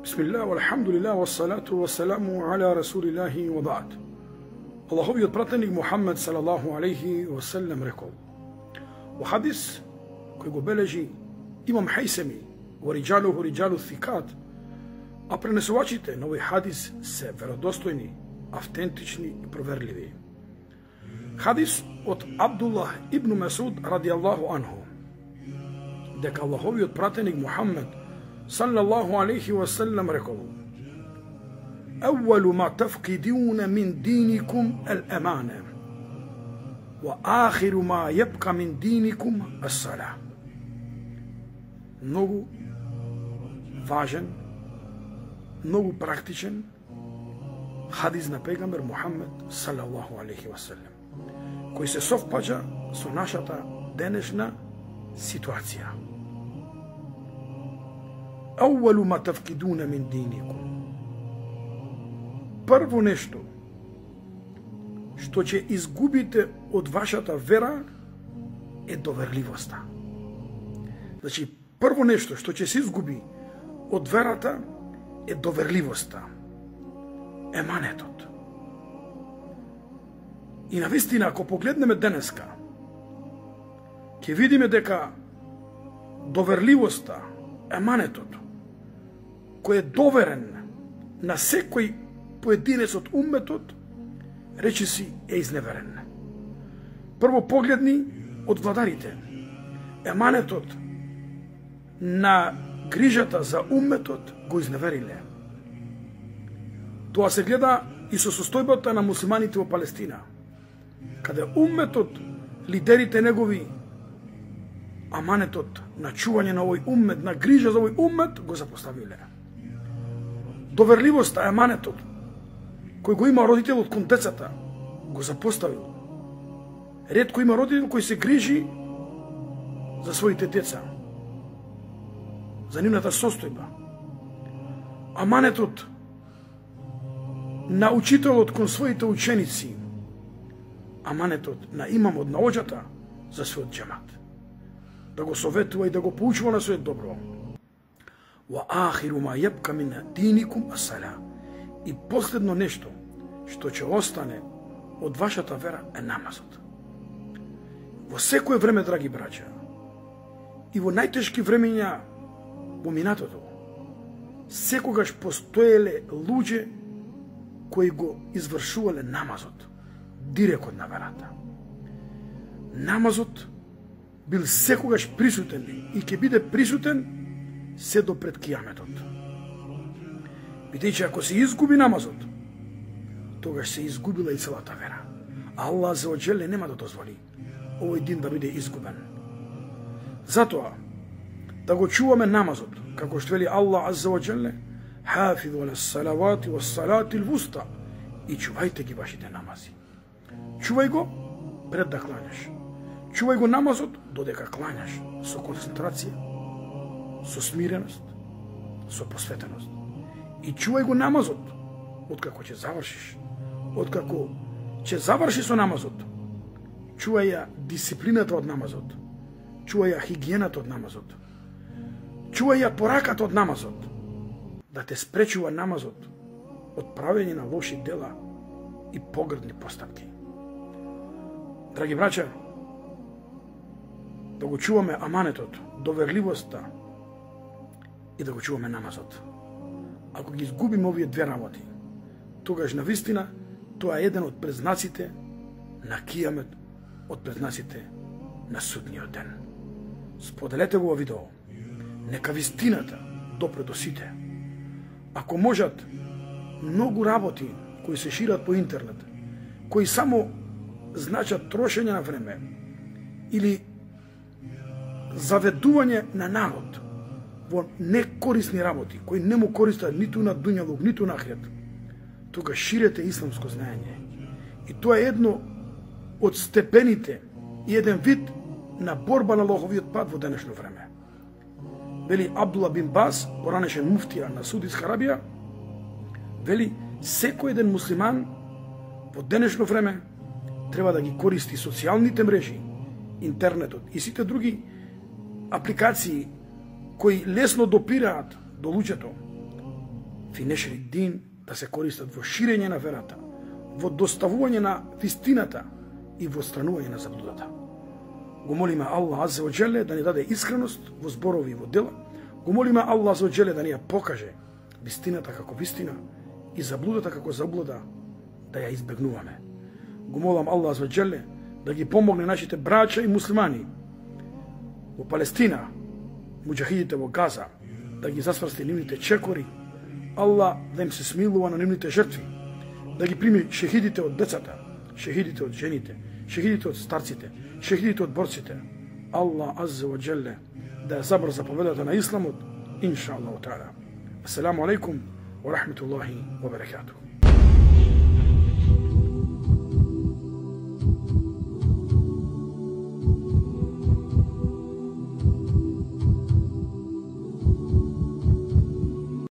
Bismillah, walhamdulillah, wassalatu wassalamu ala rasulillahi wa ba'd. Allahoviот пратеник Мухаммед салаллаху алейхи ва саллем рекол во хадис кој го бележи имам Хајсеми во риджалуху риджалу thикат, а пренесувачите на овој хадис се веродостојни, автентични и проверливи. Хадис од Абдуллах ибн Масуд радијаллаху анху, дека Аллаховиот пратеник Мухаммед салаллаху алейхи ва саллем рекол: أول ما تفقدون من دينكم الأمانة وآخر ما يبقى من دينكم الصلاة. Многу важен, многу практичен хадис на пегамбер Мухаммед салаллаху алейхи ва саллем, кој се совпаѓа со нашата денешна ситуација. أول ما تفقدون من دينكم, прво нешто што ќе изгубите од вашата вера е доверливоста. Значи, прво нешто што ќе се изгуби од верата е доверливоста, еманетот. И навистина, ако погледнеме денеска, ќе видиме дека доверливоста, еманетот, кој е доверен на секој поединец од умметот, речиси е изневерен. Прво погледни од владарите, еманетот на грижата за умметот го изневериле. Тоа се гледа и со состојбата на муслиманите во Палестина, каде умметот, лидерите негови, аманетот на чување на овој уммет, на грижа за овој уммет го запоставиле. Доверливоста, еманетот кој го има родителот кон децата, го запоставил. Ретко има родител кој се грижи за своите деца, за нивната состојба. Аманетот на учителот кон своите ученици, аманетот на имамот, на оџата за својот џемат, да го советува и да го поучува на својот добро. Wa akhiru ma yabqa min dinikum as-salah. И последно нешто што ќе остане од вашата вера е намазот. Во секое време, драги браќа, и во најтешки времења во минатото, секогаш постоеле луѓе кои го извршувале намазот директ од верата. Намазот бил секогаш присутен и ќе биде присутен се до пред кијаметот. Бидејќи ако се изгуби намазот, тогаш се изгубила и целата вера. Аллах азза ва џеле нема да дозволи овој дин да биде изгубен. Затоа, да го чуваме намазот, како што вели Аллах азза ва џеле: хафиҙу ала салавати ва салати л-вуста, и чувајте ги вашите намази. Чувај го пред да клањаш. Чувај го намазот додека клањаш, со концентрација, со смиреност, со посветеност. И чувај го намазот откако ќе завршиш. Откако ќе заврши со намазот, чувај ја дисциплината од намазот, чувај ја хигиената од намазот, чувај ја пораката од намазот, да те спречува намазот од правење на лоши дела и погрдни постапки. Драги браќа, да го чуваме аманетот, доверливоста и да го чуваме намазот. Ако ги изгубиме овие две работи, тогаш навистина тоа е еден од презнаците на кијамет, од презнаците на судниот ден. Споделете го во видео. Нека вистината допре до сите. Ако можат многу работи кои се шират по интернет, кои само значат трошење на време или заведување на народ во некорисни работи, кои не му користат ниту на дуњалук, ниту на ахирет, тога ширете исламско знаење. И тоа е едно од степените и еден вид на борба на Аллаховиот пат во денешно време. Вели Абдулла бин Бас, поранешен муфтија на Саудитска Арабија, вели секој еден муслиман во денешно време треба да ги користи социјалните мрежи, интернетот и сите други апликации кои лесно допираат до луѓето, фи нешри дин, да се користат во ширење на верата, во доставување на вистината и во странување на заблудата. Го молиме Аллах аззе ва джеле да ни даде искреност во зборови и во дела. Го молиме Аллах аззе ва джеле да ни ја покаже вистината како вистина и заблудата како заблуда, да ја избегнуваме. Го молам Аллах аззе ва джеле да ги помогне нашите браќа и муслимани во Палестина, муџахидите во Газа, да ги засврсти нивните чекори. Аллах да им се смилува на нивните жртви, да ги прими шехидите од децата, шехидите од жените, шехидите од старците, шехидите од борците. Аллах аззе ва джеле да ја забрза победата на исламот, инша Аллаху таала. Ассаламу алейкум ва рахметуллахи ва баракатух.